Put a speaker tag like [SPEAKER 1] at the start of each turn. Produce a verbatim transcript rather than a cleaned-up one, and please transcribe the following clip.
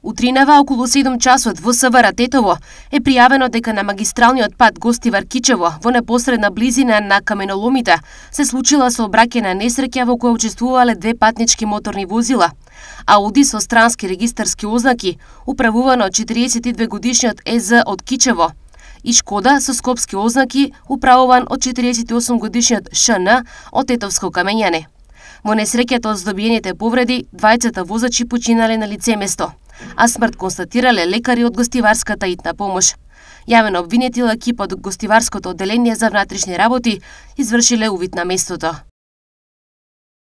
[SPEAKER 1] Утринава околу седум часот во СВР Тетово е пријавено дека на магистралниот пат Гостивар-Кичево во непосредна близина на каменоломите се случила сообраќајна несреќа во која учествувале две патнички моторни возила. Ауди со странски регистарски ознаки, управувано од четириесет и две годишниот Е З од Кичево, и Шкода со скопски ознаки, управуван од четириесет и осум годишниот Ш Н од Тетовско камењане. Во несреќата од здобиените повреди, двајцата возачи починале на лице место, а смрт констатирале лекари од Гостиварската итна помош. Јавен обвинетил екипот од Гостиварското одделение за внатрешни работи извршиле увид на местото.